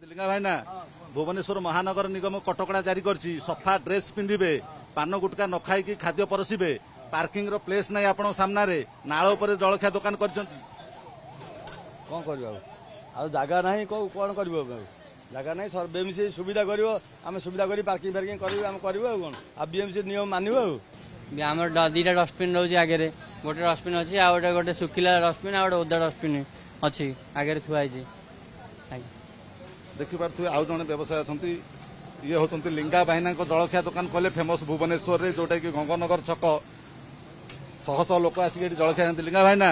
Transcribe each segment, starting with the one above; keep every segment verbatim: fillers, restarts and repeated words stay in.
ଲିଙ୍ଗା ଭାଇନା, ଭୁବନେଶ୍ୱର ମହାନଗର ନିଗମ କଟକଣା ଜାରି କରିଛି। ସଫା ଡ୍ରେସ୍ ପିନ୍ଧିବେ, ପାନ ଗୁଟକା ନ ଖାଇକି ଖାଦ୍ୟ ପରସିବେ। ପାର୍କିଂର ପ୍ଲେସ୍ ନାହିଁ ଆପଣଙ୍କ ସାମ୍ନାରେ, ନାଳ ଉପରେ ଜଳଖିଆ ଦୋକାନ କରିଛନ୍ତି। କ'ଣ କରିବ ଆଉ? ଆଉ ଜାଗା ନାହିଁ, କେଉଁ କ'ଣ କରିବ ଆଉ? ଜାଗା ନାହିଁ, ବିଏମ୍ସି ସୁବିଧା କରିବ, ଆମେ ସୁବିଧା କରି ପାର୍କିଂ ଫାର୍କିଂ କରିବୁ, ଆମେ କରିବୁ ଆଉ କ'ଣ? ଆଉ ବିଏମ୍ସି ନିୟମ ମାନିବ ଆଉ। ଆମର ଦିଟା ଡଷ୍ଟବିନ୍ ରହୁଛି ଆଗରେ, ଗୋଟେ ଡଷ୍ଟବିନ୍ ଅଛି ଆଉ ଗୋଟେ ଗୋଟେ ଶୁଖିଲା ଡଷ୍ଟବିନ୍ ଆଉ ଗୋଟେ ଓଦା ଡଷ୍ଟବିନ୍ ଅଛି ଆଗରେ ଥୁଆ ହେଇଛି। ଦେଖିପାରୁଥିବେ, ଆଉ ଜଣେ ବ୍ୟବସାୟୀ ଅଛନ୍ତି। ଇଏ ହେଉଛନ୍ତି ଲିଙ୍ଗା ଭାଇନାଙ୍କ ଜଳଖିଆ ଦୋକାନ କହିଲେ ଫେମସ୍ ଭୁବନେଶ୍ୱରରେ, ଯୋଉଟାକି ଗଙ୍ଗନଗର ଛକ। ଶହ ଶହ ଲୋକ ଆସିକି ଏଠି ଜଳଖିଆ ଖାଆନ୍ତି। ଲିଙ୍ଗା ଭାଇନା,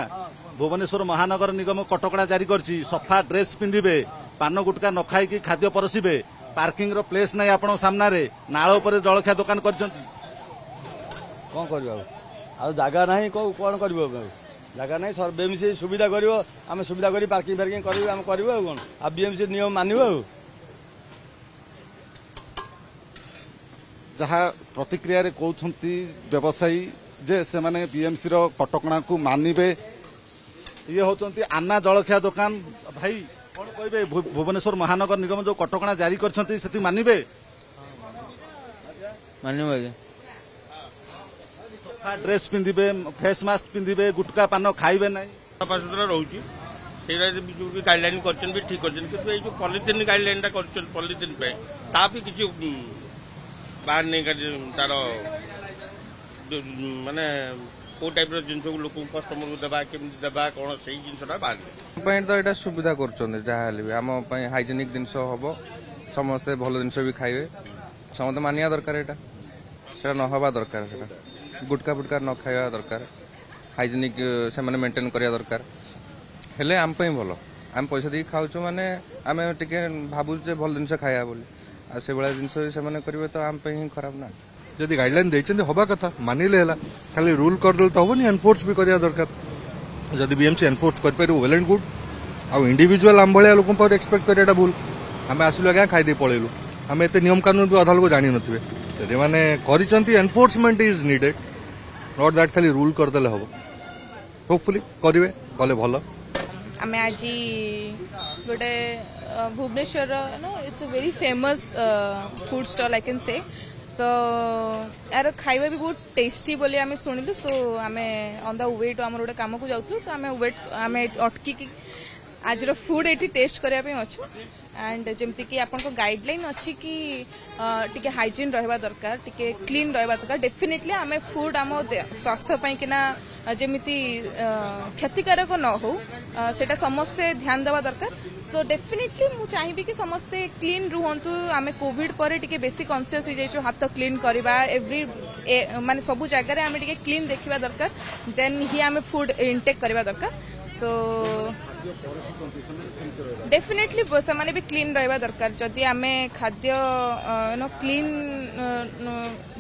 ଭୁବନେଶ୍ୱର ମହାନଗର ନିଗମ କଟକଣା ଜାରି କରିଛି। ସଫା ଡ୍ରେସ୍ ପିନ୍ଧିବେ, ପାନ ଗୁଟକା ନ ଖାଇକି ଖାଦ୍ୟ ପରସିବେ। ପାର୍କିଂର ପ୍ଲେସ୍ ନାହିଁ ଆପଣଙ୍କ ସାମ୍ନାରେ, ନାଳ ଉପରେ ଜଳଖିଆ ଦୋକାନ କରିଛନ୍ତି। କ'ଣ କରିବ ଆଉ? ଆଉ ଜାଗା ନାହିଁ, କେଉଁ କ'ଣ କରିବ ଆଉ? ଜାଗା ନାହିଁ, ବିଏମ୍ସି ସୁବିଧା କରିବ, ଆମେ ସୁବିଧା କରି ପାର୍କିଂ ଫାର୍କିଂ କରିବୁ, ଆମେ କରିବୁ ଆଉ କ'ଣ? ଆଉ ବିଏମ୍ସି ନିୟମ ମାନିବ ଆଉ। ଯାହା ପ୍ରତିକ୍ରିୟାରେ କହୁଛନ୍ତି ବ୍ୟବସାୟୀ ଯେ ସେମାନେ ବିଏମ୍ସିର କଟକଣାକୁ ମାନିବେ। ଇଏ ହେଉଛନ୍ତି ଆନ୍ନା ଜଳଖିଆ ଦୋକାନ। ଭାଇ, କ'ଣ କହିବେ? ଭୁବନେଶ୍ୱର ମହାନଗର ନିଗମ ଯୋଉ କଟକଣା ଜାରି କରିଛନ୍ତି, ସେଠି ମାନିବେ? ମାନିବ ଆଜ୍ଞା। ସଫା ଡ୍ରେସ୍ ପିନ୍ଧିବେ, ଫେସ୍ ମାସ୍କ ପିନ୍ଧିବେ, ଗୁଟକା ପାନ ଖାଇବେ ନାହିଁ। ସଫାସୁତୁରା ରହୁଛି, ସେଇଟା ଯୋଉ ବି ଗାଇଡଲାଇନ କରିଛନ୍ତି ବି ଠିକ କରିଛନ୍ତି। କିନ୍ତୁ ଏଇ ଯୋଉ ପଲିଥିନ୍ ଗାଇଡଲାଇନଟା କରିଛନ୍ତି ପଲିଥିନ୍ ପାଇଁ, ତା ବି କିଛି ବାହାରିନି ତାର, ମାନେ କୋଉ ଟାଇପର ଜିନିଷକୁ ଲୋକଙ୍କୁ କଷ୍ଟମରକୁ ଦେବା, କେମିତି ଦେବା, କ'ଣ ସେଇ ଜିନିଷଟା ବାହାରିନି। ପାଇଁ ତ ଏଇଟା ସୁବିଧା କରୁଛନ୍ତି, ଯାହା ହେଲେ ବି ଆମ ପାଇଁ ହାଇଜେନିକ ଜିନିଷ ହବ, ସମସ୍ତେ ଭଲ ଜିନିଷ ବି ଖାଇବେ। ସମସ୍ତେ ମାନିବା ଦରକାର ଏଇଟା, ସେଟା ନ ହବା ଦରକାର, ସେଟା ଗୁଟକା ଫୁଟକା ନ ଖାଇବା ଦରକାର, ହାଇଜେନିକ ସେମାନେ ମେଣ୍ଟେନ୍ କରିବା ଦରକାର, ହେଲେ ଆମ ପାଇଁ ଭଲ। ଆମେ ପଇସା ଦେଇକି ଖାଉଛୁ, ମାନେ ଆମେ ଟିକେ ଭାବୁଛୁ ଯେ ଭଲ ଜିନିଷ ଖାଇବା ବୋଲି, ଆଉ ସେଭଳିଆ ଜିନିଷ ସେମାନେ କରିବେ ତ ଆମ ପାଇଁ ହିଁ ଖରାପ ନା। ଯଦି ଗାଇଡଲାଇନ୍ ଦେଇଛନ୍ତି, ହବା କଥା, ମାନିଲେ ହେଲା। ଖାଲି ରୁଲ୍ କରିଦେଲେ ତ ହବନି, ଏନଫୋର୍ସ ବି କରିବା ଦରକାର। ଯଦି ବିଏମ୍ସି ଏନଫୋର୍ସ କରିପାରିବ, ୱେଲ୍ ଆଣ୍ଡ ଗୁଡ୍। ଆଉ ଇଣ୍ଡିଭିଜୁଆଲ ଆମ ଭଳିଆ ଲୋକଙ୍କ ପାଖରେ ଏକ୍ସପେକ୍ଟ କରିବାଟା ଭୁଲ। ଆମେ ଆସିଲୁ ଆଜ୍ଞା, ଖାଇଦେଇ ପଳେଇଲୁ, ଆମେ ଏତେ ନିୟମ କାନୁନ ବି ଅଧା ଲୋକ ଜାଣିନଥିବେ। ଯଦି ମାନେ କରିଛନ୍ତି, enforcement is needed, not that ଖାଲି ରୁଲ୍ କରିଦେଲେ ହବ। ହୋପଫୁଲି କରିବେ, କଲେ ଭଲ। ଆମେ ଆଜି ଗୋଟେ ଭୁବନେଶ୍ୱରର, it's a very famous food stall I can say, ତ ଏହାର ଖାଇବା ବି ବହୁତ ଟେଷ୍ଟି ବୋଲି ଆମେ ଶୁଣିଲୁ। ସୋ ଆମେ ଅନ୍ the we two ଆମର ଗୋଟେ କାମକୁ ଯାଉଥିଲୁ, ତ ଆମେ ୱେଟ୍ ଆମେ ଅଟକିକି ଆଜିର ଫୁଡ୍ ଏଠି ଟେଷ୍ଟ କରିବା ପାଇଁ ଅଛୁ। ଆଣ୍ଡ ଯେମିତିକି ଆପଣଙ୍କ ଗାଇଡଲାଇନ୍ ଅଛି କି ଟିକେ ହାଇଜିନ୍ ରହିବା ଦରକାର, ଟିକେ କ୍ଲିନ୍ ରହିବା ଦରକାର, ଡେଫିନେଟଲି ଆମେ ଫୁଡ୍ ଆମ ସ୍ୱାସ୍ଥ୍ୟ ପାଇଁକିନା ଯେମିତି କ୍ଷତିକାରକ ନ ହଉ, ସେଇଟା ସମସ୍ତେ ଧ୍ୟାନ ଦେବା ଦରକାର। ସୋ ଡେଫିନେଟଲି ମୁଁ ଚାହିଁବି କି ସମସ୍ତେ କ୍ଲିନ୍ ରୁହନ୍ତୁ। ଆମେ କୋଭିଡ ପରେ ଟିକେ ବେଶୀ କନସିୟସ୍ ହେଇଯାଇଛୁ, ହାତ କ୍ଲିନ୍ କରିବା, ଏଭ୍ରି ମାନେ ସବୁ ଜାଗାରେ ଆମେ ଟିକେ କ୍ଲିନ୍ ଦେଖିବା ଦରକାର, ଦେନ୍ ହିଁ ଆମେ ଫୁଡ୍ ଇନଟେକ୍ କରିବା ଦରକାର। ସୋ ଡେଫିନେଟଲି ସେମାନେ ବି କ୍ଲିନ୍ ରହିବା ଦରକାର। ଯଦି ଆମେ ଖାଦ୍ୟ କ୍ଲିନ୍,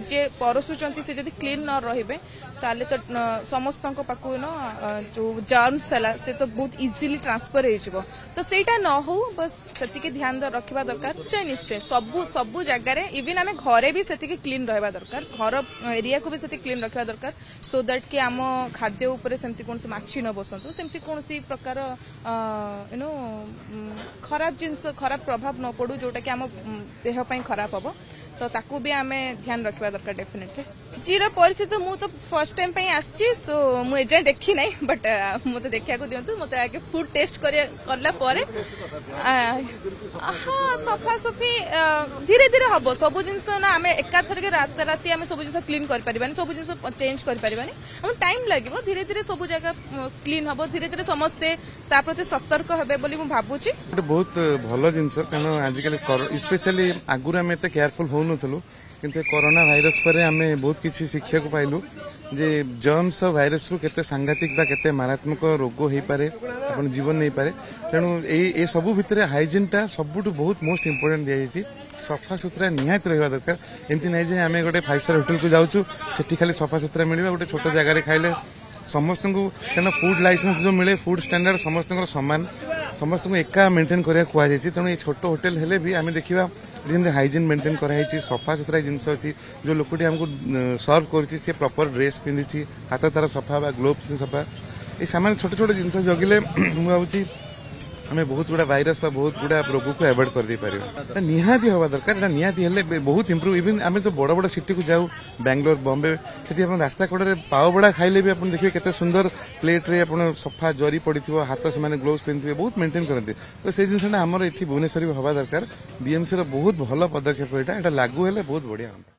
ଯିଏ ପରସୁଛନ୍ତି ସେ ଯଦି କ୍ଲିନ୍ ନ ରହିବେ, ତାହେଲେ ତ ସମସ୍ତଙ୍କ ପାଖକୁ ଯୋଉ ଜର୍ମସ୍ ହେଲା ସେ ତ ବହୁତ ଇଜିଲି ଟ୍ରାନ୍ସଫର ହେଇଯିବ। ତ ସେଇଟା ନ ହଉ, ବସ୍ ସେତିକି ଧ୍ୟାନ ରଖିବା ଦରକାର। ନିଶ୍ଚୟ ନିଶ୍ଚୟ, ସବୁ ସବୁ ଜାଗାରେ, ଇଭିନ୍ ଆମେ ଘରେ ବି ସେତିକି କ୍ଲିନ୍ ରହିବା ଦରକାର, ଘର ଏରିଆକୁ ବି ସେତିକି କ୍ଲିନ୍ ରଖିବା ଦରକାର, ସୋ that କି ଆମ ଖାଦ୍ୟ ଉପରେ ସେମିତି କୌଣସି ମାଛି ନ ବସନ୍ତୁ, ସେମିତି କୌଣସି ପ୍ରକାର you know ଖରାପ ଜିନିଷ, ଖରାପ ପ୍ରଭାବ ନ ପଡୁ, ଯୋଉଟା କି ଆମ ଦେହ ପାଇଁ ଖରାପ ହବ। ତ ତାକୁ ବି ଆମେ ଧ୍ୟାନ ରଖିବା ଦରକାର ଡେଫିନେଟଲି। ଆଜିର ପରିସ୍ଥିତି, ମୁଁ ତ ଫର୍ଷ୍ଟ ଟାଇମ୍ ପାଇଁ ଆସିଛି, ସୋ ମୁଁ ଏଯାଏଁ ଦେଖି ନାହିଁ, ବଟ୍ ମୋତେ ଦେଖିବାକୁ ଦିଅନ୍ତୁ। ମୋତେ ଆଗେ ଫୁଡ୍ ଟେଷ୍ଟ କଲା ପରେ। ହଁ, ସଫାସଫି ଧୀରେ ଧୀରେ ହବ ସବୁ ଜିନିଷ ନା। ଆମେ ଏକାଥରକେ ରାତାରାତି ଆମେ ସବୁ ଜିନିଷ କ୍ଲିନ୍ କରିପାରିବାନି, ସବୁ ଜିନିଷ ଚେଞ୍ଜ କରିପାରିବାନି, ଆମକୁ ଟାଇମ୍ ଲାଗିବ। ଧୀରେ ଧୀରେ ସବୁ ଜାଗା କ୍ଲିନ୍ ହବ, ଧୀରେ ଧୀରେ ସମସ୍ତେ ତା ପ୍ରତି ସତର୍କ ହେବେ ବୋଲି ମୁଁ ଭାବୁଛି। ଗୋଟେ ବହୁତ ଭଲ ଜିନିଷ, କାରଣ ଆଜିକାଲି ସ୍ପେଶାଲି ଆଗରୁ ଆମେ ଏତେ କେୟାରଫୁଲ ହଉନଥିଲୁ, କିନ୍ତୁ କରୋନା ଭାଇରସ ପରେ ଆମେ ବହୁତ କିଛି ଶିଖିବାକୁ ପାଇଲୁ ଯେ ଜର୍ମସ ଭାଇରସରୁ କେତେ ସାଂଘାତିକ ବା କେତେ ମାରାତ୍ମକ ରୋଗ ହେଇପାରେ, ଆପଣ ଜୀବନ ନେଇପାରେ। ତେଣୁ ଏଇ ଏ ସବୁ ଭିତରେ ହାଇଜିନ୍ଟା ସବୁଠୁ ବହୁତ ମୋଷ୍ଟ ଇମ୍ପୋର୍ଟାଣ୍ଟ ଦିଆଯାଇଛି। ସଫାସୁତୁରା ନିହାତି ରହିବା ଦରକାର। ଏମିତି ନାହିଁ ଯେ ଆମେ ଗୋଟେ ଫାଇଭ୍ ଷ୍ଟାର ହୋଟେଲକୁ ଯାଉଛୁ, ସେଠି ଖାଲି ସଫାସୁତୁରା ମିଳିବ, ଗୋଟେ ଛୋଟ ଜାଗାରେ ଖାଇଲେ ସମସ୍ତଙ୍କୁ। କାରଣ ଫୁଡ୍ ଲାଇସେନ୍ସ ଯୋଉ ମିଳେ, ଫୁଡ୍ ଷ୍ଟାଣ୍ଡାର୍ଡ ସମସ୍ତଙ୍କର ସମାନ, ସମସ୍ତଙ୍କୁ ଏକା ମେଣ୍ଟେନ୍ କରିବାକୁ କୁହାଯାଇଛି। ତେଣୁ ଏଇ ଛୋଟ ହୋଟେଲ ହେଲେ ବି ଆମେ ଦେଖିବା ଯେମିତି ହାଇଜିନ୍ ମେଣ୍ଟେନ୍ କରାହେଇଛି, ସଫାସୁତୁରା ଜିନିଷ ଅଛି, ଯୋଉ ଲୋକଟି ଆମକୁ ସର୍ଭ କରୁଛି ସେ ପ୍ରପର ଡ୍ରେସ୍ ପିନ୍ଧିଛି, ହାତ ତାର ସଫା ବା ଗ୍ଲୋଭ୍ସ ସଫା। ଏଇ ସାମାନ୍ୟ ଛୋଟ ଛୋଟ ଜିନିଷ ଜଗିଲେ ମୁଁ ଭାବୁଛି ଆମେ ବହୁତ ଗୁଡ଼ା ଭାଇରସ ବା ବହୁତ ଗୁଡ଼ା ରୋଗକୁ ଆଭଏଡ୍ କରିଦେଇପାରିବା ଏଟା ନିହାତି ହେବା ଦରକାର ଏଟା ନିହାତି ହେଲେ ବହୁତ ଇମ୍ପ୍ରୁଭ୍ ଇଭିନ୍ ଆମେ ତ ବଡ଼ ବଡ଼ ସିଟିକୁ ଯାଉ ବାଙ୍ଗାଲୋର ବମ୍ବେ ସେଠି ଆପଣ ରାସ୍ତା କଡ଼ରେ ପାଓବଡ଼ା ଖାଇଲେ ବି ଆପଣ ଦେଖିବେ କେତେ ସୁନ୍ଦର ପ୍ଲେଟ୍ରେ ଆପଣ ସଫା ଜରି ପଡ଼ିଥିବ ହାତ ସେମାନେ ଗ୍ଲୋଭ୍ସ ପିନ୍ଧିଥିବେ ବହୁତ ମେଣ୍ଟେନ୍ କରନ୍ତି ତ ସେଇ ଜିନିଷଟା ଆମର ଏଠି ଭୁବନେଶ୍ୱର ବି ହେବା ଦରକାର ବିଏମ୍ସିର ବହୁତ ଭଲ ପଦକ୍ଷେପ ଏଇଟା ଏଇଟା ଲାଗୁ ହେଲେ ବହୁତ ବଢ଼ିଆ ହୁଅନ୍ତା